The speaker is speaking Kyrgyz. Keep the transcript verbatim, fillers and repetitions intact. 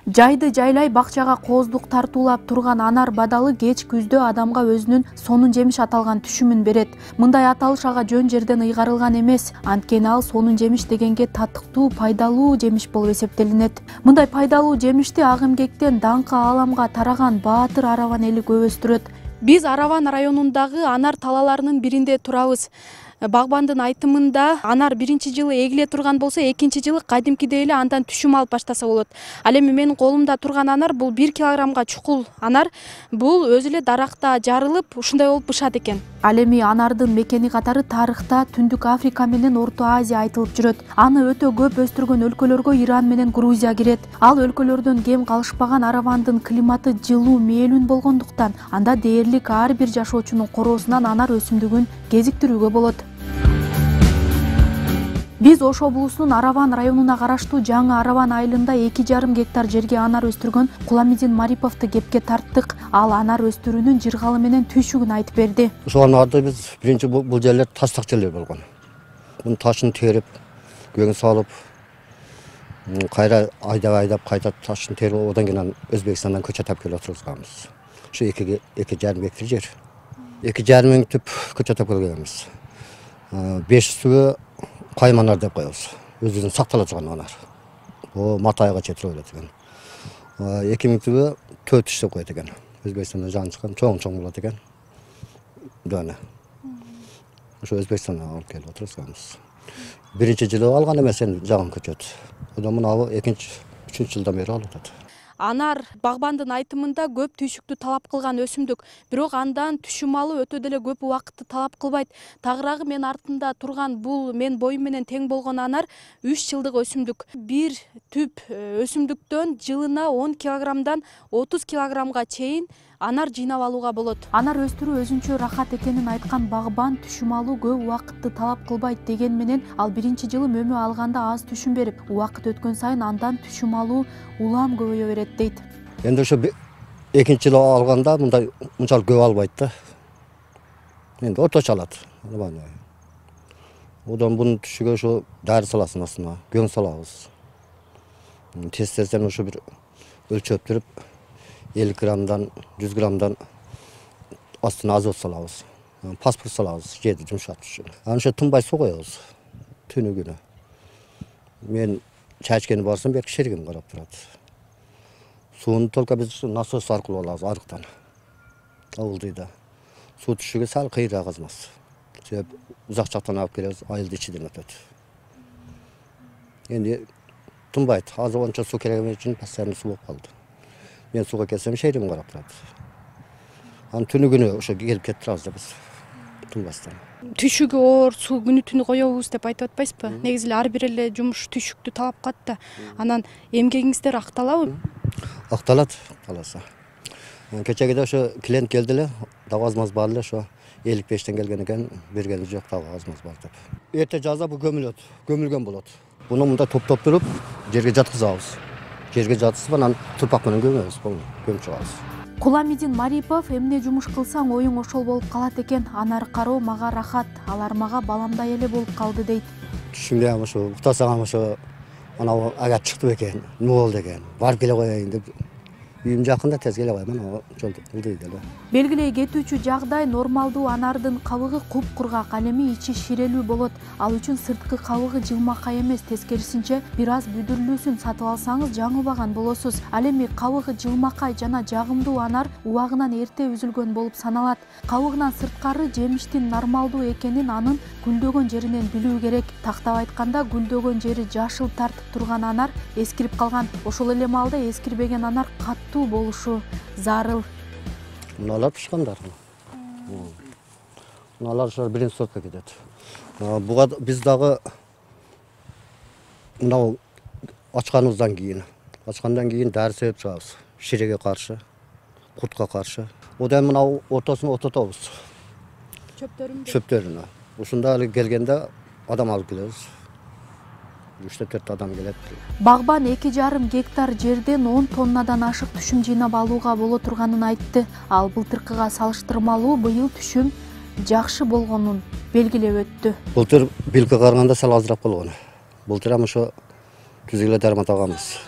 Жайды жайлай бакчага кооздук тартуулап турган анар бадалы кеч күздө адамга өзүнүн сонун жемиш аталган түшүмүн берет. Мындай аталыш ага жөн жерден ыйгарылган эмес. Анткени ал сонун жемиш дегенге татыктуу, пайдалуу жемиш болуп эсептелинет. Мындай пайдалуу жемишти ак эмгектен даңкы ааламга тараган баатыр Араван эли көп өстүрөт. Биз Араван районундагы анар талаларынын биринде турабыз. Багбандын айтымында анар биринчи жылы эгиле турган болсо, экинчи жылы кадимкидей эле андан түшүм алып баштаса болот. Ал эми менин колумда турган анар бул бир килограммга чукул анар. Бул өзү эле даракта жарылып, ушундай болуп бышат экен. Ал эми анардын мекени катары тарыхта Түндүк Африка менен Орто Азия айтылып жүрөт. Аны өтө көп өстүргөн өлкөлөргө Иран менен Грузия кирет. Ал өлкөлөрдөн кем калышпаган Аравандын климаты жылуу, мээлүүн болгондуктан анда дээрлик ар бир жашоочунун короосунан анар өсүмдүгүн кезиктирүүгө болот. Биз Ош облусунун Араван районуна караштуу Жаңы Араван айылында эки жарым гектар жерге анар өстүргөн Куламидин Мариповду кепке тарттык. Ал анар өстүрүүнүн жыргалы менен түйшүгүн айтып берди. Ошол анарды биз биринчи бул жерлер тастак жерлер болгон. Муну ташын терип, көң салып, кайра айдап айдап кайта ташын терип, одан кийин Өзбекстандан көчө тапып келип отурганбыз. Ушу эки эки жарым гектар жер. эки жарым миң түп көчө тапып келгенбиз. беш жүзгө кайым анар деп коебуз. Өзүнүн сактала турган анар. О Матайга жетирип келет экен. эки миң түбү төрт жүз деп коет экен. Өзбекстандан жаңы чыккан чоң-чоң болот экен. Дана. Ошо Өзбекстандан алып келип отурганбыз. Биринчи жылы алган эмес, эми жагым көчөт. Одан мына экинчи, үчүнчү жылдан бери алып атат. Анар багбандын айтымында көп түйшүктү талап кылган өсүмдүк, бирок андан түшүм алуу өтө деле көп убакытты талап кылбайт. Тагыраагы мен артында турган бул мен боюм менен тең болгон анар үч жылдык өсүмдүк. Бир түп өсүмдүктөн жылына он килограммдан отуз килограммга чейин анар жыйнап алууга болот. Анар өстүрүү өзүнчө рахат экенин айткан багбан түшүм алуу көп убакытты талап кылбайт деген менен ал биринчи жылы мөмө алганда аз түшүм берип, убакыт өткөн сайын андан түшүм алуу улам көбөйө берет дейт. Эми ошо экинчи жылы алганда мындай мынчалык көп албайт да. Эми орточо алат. Одан бунун түшүгө ошо дары саласың астына, көң салабыз. Тез-тезден ошо бир өлчөптүрүп элүү граммдан, жүз граммдан астына азот салабыз. Паспорт салабыз, жерди жумшатыш үчүн. Аны ошо тынбай суу коебуз. Түнү күнү. Мен чачкени барсам, берки шеригим карап турат. Сууну только биз насос аркылуу алабыз, арыктан. Ауылдыйда. Суу түшүгө сал кыйраак азмас. Себеп узак жактан алып келебиз, айылды ичиден өтөт. Энди тынбайт. Азыр ончо суу керек үчүн постоянно суу болуп калды. Мен сууга келсем, шеригим карап турат. Аны түнү күнү ошо келип кетип турабыз да биз. Тынбастан. Түшүгү оор, суу күнү түнү коебуз деп айтып атпайсызбы? Негизи эле ар бир эле жумуш түшүктү талап кылат да. Анан эмгегиңиздер акталабы? Акталат, каласа. Кечеге ошо клиент келди эле, дагы азмаз бар эле, ошо элүү бештен келген экен, бергени жок, дагы азмаз бар деп. Эрте жазда бу көмүлөт, көмүлгөн болот. Буну мында топтоп туруп, жерге жаткызабыз. Жерге жаткызып, анан турпак менен көмөбүз, көмүп чыгабыз. Куламидин Марипов эмне жумуш кылсаң оюң ошол болуп калат экен. Анар кароо мага рахат, алар мага баламдай эле болуп калды дейт. Түшүмдө ham ошо уктасам ошо анау ага чыкты экен, эмне болду экен, барып келе коеюн деп. Үйүм жакында, тез келе коймун, ошо ылдый деле. Белгилей кетүүчү жагдай нормалдуу анардын кабыгы куп-кургак, ал эми ичи ширелүү болот. Ал үчүн сырткы кабыгы жылмакай эмес, тескерисинче бир аз бүдүрлүүсүн сатып алсаңыз жаңыбаган болосуз. Ал эми кабыгы жылмакай жана жагымдуу анар убагынан эрте үзүлгөн болуп саналат. Кабыгынан сырткары жемиштин нормалдуу экенин анын гүлдөгөн жеринен билүү керек. Тактап айтканда, гүлдөгөн жери жашыл тартып турган анар эскирип калган. Ошол эле маалда эскирбеген анар каттуу болушу зарыл. Мыналар пышкандар. Мыналар ошо биринчи сортко кетет. Буга биз дагы мынау ачканыбыздан кийин, ачкандан кийин дары себип чыгабыз. Ширеге каршы, куртка каршы. Одан мынау ортосун ототобуз. Чөптөрүн. Чөптөрүн. Ушунда эле келгенде адам алып келебиз. үч төрт адам келет. Багбан эки жарым гектар жерден он тоннадан ашык түшүм жыйнап алууга боло турганын айтты. Ал былтыркыга салыштырмалуу быйыл түшүм жакшы болгонун белгилеп өттү. Былтыр билге караганда сал азыраак болгон. Былтыр ham ошо түз эле дармат алганбыз.